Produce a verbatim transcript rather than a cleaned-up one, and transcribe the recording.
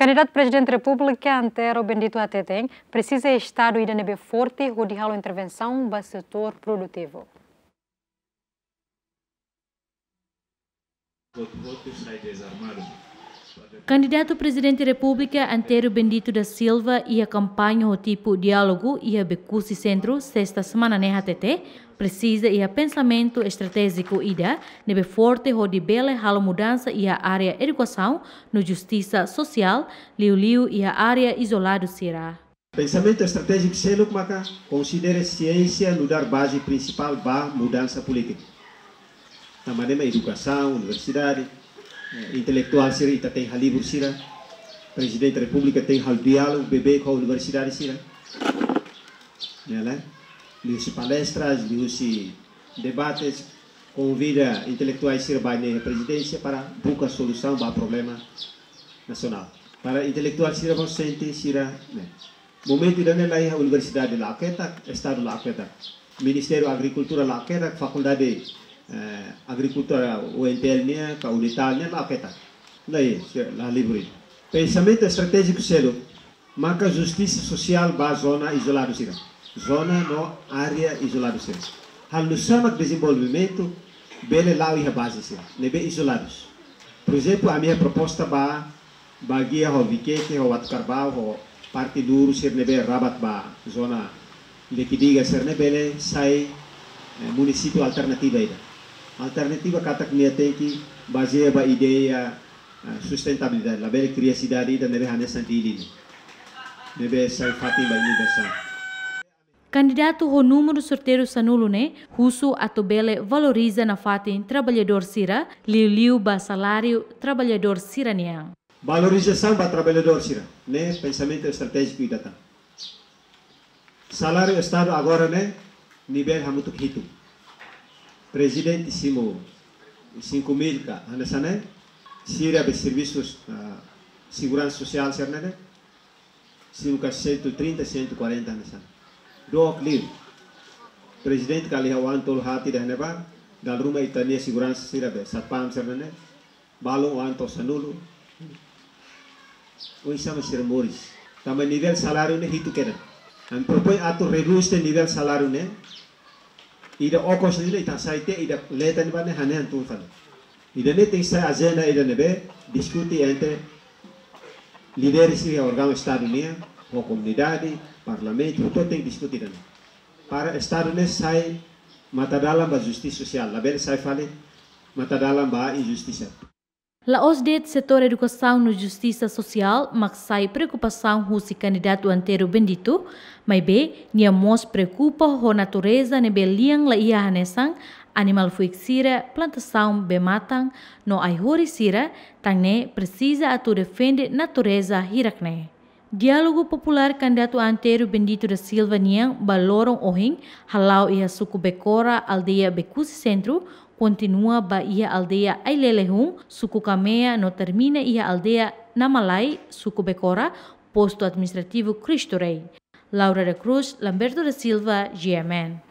Kandidatu Prezidente Repúblika Antero Bendito hateten, presiza estadu ida ne'ebé forte hodi halo intervensaun ba setór produtivu. Kandidatu Prezidente Repúblika Antero Bendito da Silva iha kampaña ho tipu diálogu iha Becusse Centro, sesta semana ne'e hatete, presiza iha pensamentu estratéjiku ida ne'ebé forte hodi bele halo mudansa iha área edukasaun no justisa sosiál, liuliu iha área izoladu sira. Pensamentu estratéjiku seluk maka konsidera siénsia nu'udar baze prinsipál ba mudansa polítika. Tanba ne'e mak edukasaun, universidade, eh, intelektuál sira ita tenke halibur sira, Prezidente Repúblika tenke halo diálogu beibeik ho universidade sira. Ya, né? Liuhusi palestras, liuhusi debates, konvida intelektuál sira ba iha prezidénsia para buka solusaun ba problema nasionál. Para intelektuál sira mós sente sira, né? Momentu ida-ne'e laiha universidade la'o ketak, estadu la'o ketak. Ministériu Agrikultura la'o ketak, fakuldade, eh, agrikultura U N T L nian, ka Unital nian la'o ketak. Laiha, sira la halibur. Pensamentu estratéjiku seluk maka justisa sosiál ba zona izoladu sira. Zona no área izoladu sira. Halo nu'usá mak dezenvolvimentu bele la'o iha baze sira ne'ebé izoladus. Por ezemplu, ami iha proposta ba, ba gia ho Viqueque, ho Uatucarbau, ho parte Luru sira ne'ebé rabat ba zona Liquidiga sira-ne'e bele sai, eh, munisípiu alternativa ida. Alternativa katak nia tenke bazeia ba ideia, eh, sustentabilidade. Labele kria sidade ida ne'ebé hanesan Dili ne'e, ne'ebé sai fatin ba inundasaun. Kandidatu ho númeru sorteiru sanulu ne'e husu atu bele valoriza nafatin traballadór sira, liuliu ba saláriu traballadór sira-nian. Valorizasaun ba traballadór sira, ne'e pensamentu estratéjiku ida tan. Saláriu estadu agora ne'e nivel hamutuk hitu. Prezidente simu cinco mil ka hanesan ne'e, sira be servisu, ah, seguransa sosiál sira-ne'e, simu ka cento e trinta, cento e quarenta hanesan ne'e. Dook liu. Prezidente kala iha oan tolu haat ida-ne'ebá, dala ruma ita-nia seguransa sira be satpam sira-ne'e, balun oan to'o sanulu. Oinsá mak sira moris? Tanba nivel saláriu ne'e hitu kedas. Ami propoin atu redús tiha nivel saláriu ne'e. Ida okos ne'e ita hasai tiha, ida leten ba ne'e hanehan tun fali. Ida-ne'e tenke sai ajenda ida ne'ebé diskute entre líderes iha órgaun estadu nian, ho komunidade, parlamentu, hotu tenke diskute ida-ne'e. Para estadu ne'e sai matadalan ba justisa sosiál, labele sai fali matadalan ba injustisa. La'ós de'it setór edukasaun no justisa sosiál mak sai preokupasaun husi kandidatu Antero Bendito, maibé nia mós preokupa ho natureza ne'ebé lian la iha hanesan animál fuik sira, plantasaun bee-matan no ai-horis sira, tan ne'e presiza atu defende natureza hirak-ne'e. Diálogu populár kandidatu Antero Bendito da Silva nian ba loron ohin hala'o iha suku Becora, aldeia Becusse Centro, kontinua ba iha aldeia Ailelehun, suku Camea, no termina iha aldeia Namalai, suku Becora, postu administrativu Cristo Rei. Laura da Cruz, Lamberto da Silva, G M N.